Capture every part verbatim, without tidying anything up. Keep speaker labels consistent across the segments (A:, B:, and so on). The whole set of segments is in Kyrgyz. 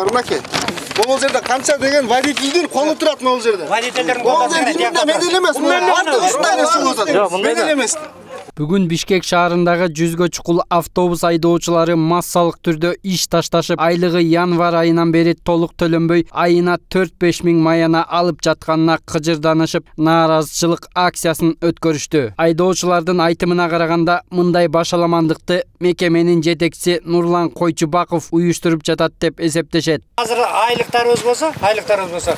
A: Урмаке. Могул жерде канча деген водительдин колу турат могул жерде.
B: Водительдердин колу турат.
A: Медел эмес. Артык ушундай нерсе болот. Медел эмес.
C: Бүгүн Бишкек шаарындагы жүзгө чукул автобус айдоочулары массалык түрдө иш ташташып, айлыгы январь айынан бери толук төлөнбөй, айына төрт беш миң маяна алып жатканына кыжырданышып, нааразычылык акциясын өткөрүштү. Айдоочулардын айтымына караганда, мындай башаламандыкты мекеменин жетекчиси Нурлан Койчубаков уюштуруп жатат деп эсептешет.
B: Азыр айлыктарыбыз болсо, айлыктарыбыз болсо,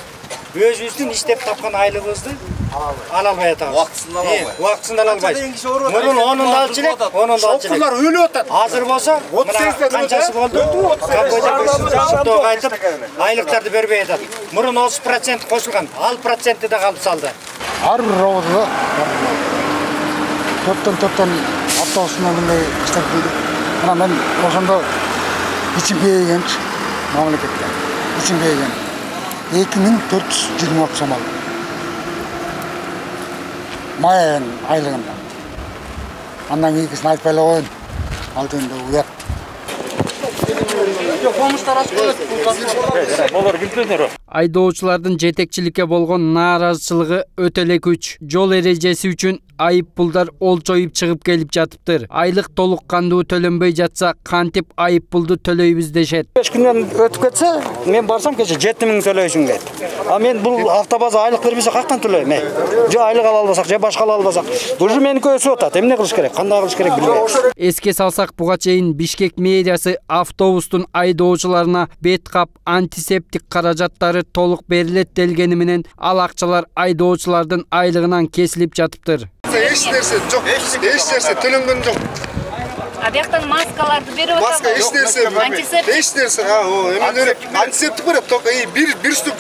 B: өзүбүздүн иштеп тапкан айлыгыбызды ала албай атабыз.
A: Убактысында ала албай.
B: Убактысында ала албайбыз. Мурун онун да алчу элек, онун да алчу элек.
A: Шофёрлор өлүп атат.
B: Азыр болсо, мына канчасы болду? Капойдо кайтып, айлыктарды бербей атат. Мурун отуз процент кошулган, ал проценти да калып салды.
D: Ар бир роводо топтон топтон автобус менен мындай иштеп келди. Мына мен ошондо ичим кейгенчи мамлекетке. Ичим кейген. эки миң төрт жүз жыйырма алты сом алдым. Май айлыгында. Андан кийинкисин айтпай эле коеюн. Ал жерде уят.
C: Айдоочулардын жетекчиликке болгон нааразычылыгы өтө эле күч. Жол эрежеси үчүн айып пулдар олчоюп чыгып келип жатыптыр. Айлык толук кандуу төлөнбөй жатса, кантип айып пулду төлөйбүз дешет.
E: беш күндөн өтүп кетсе, мен барсам кече жети миң төлөйсүң дейт. А мен бул автобаза айлык бербесе кактан төлөйм? Же айлык ала албасак, же башка ала албасак, бул же меники өсүп атат. Эмне кылыш керек? Кандай кылыш керек билбейм.
C: Эске салсак, буга чейин Бишкек мэриясы автобустун айдоочуларына бет кап, антисептик каражаттары толук берилет делгени менен, ал акчалар айдоочулардын айлыгынан кесилип жатыптыр.
A: Эч нерсе жок, эч нерсе төлөнгөн жок.
F: А бияктан маскаларды берип атат.
A: Маска эч нерсе,
F: антисептик.
A: эч нерсе, а, о, эме антисептик берет, только бир бир штук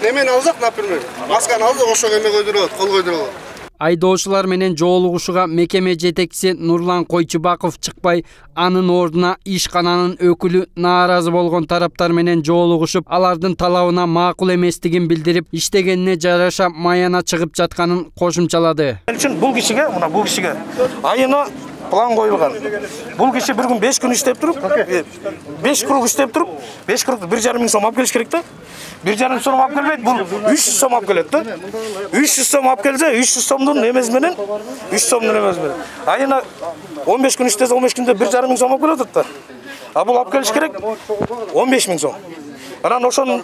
A: немени алсак, например, масканы алсак, ошого эме койдурат, кол койдурат.
C: Айдоочулар менен жоолугушууга мекеме жетекчиси Нурлан Койчубаков чыкпай, анын ордуна ишкананын өкүлү нааразы болгон тараптар менен жоолугушуп, алардын талабына макул эместигин билдирип, иштегенине жараша маяна чыгып жатканын кошумчалады.
E: Үчүн бул кишиге, мына бул кишиге айына план коюлган. Бул киши бир күн беш күн иштеп туруп, беш круг иштеп туруп, беш кругду бир жарым миң сом алып келиш керек да. бир жарым сом алып келбейт, бул үч жүз сом алып келет да. үч жүз сом алып келсе, үч жүз сомдун эмеси менен, үч сомдун эмеси менен. Айына он беш күн иштесе, он беш күндө бир жарым миң сом алып келет атат да. А бул алып келиш керек он беш миң сом. Анан ошонун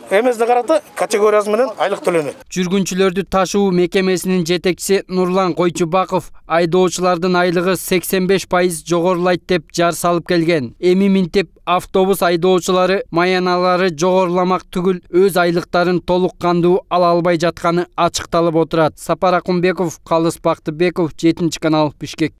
E: эмесине карата категориясы менен айлык төлөнөт.
C: Жүргүнчүлөрдү ташуу мекемесинин жетекчиси Нурлан Койчубаков айдоочулардын айлыгы сексен беш пайыз жогорулайт деп жар салып келген. Эми минтип автобус айдоочулары маяналары жогоруламак түгүл, өз айлыктарын толук кандуу ала албай жатканы ачыкталып отурат. Сапар Акунбеков, Калыс Бактыбеков, жетинчи канал, Бишкек.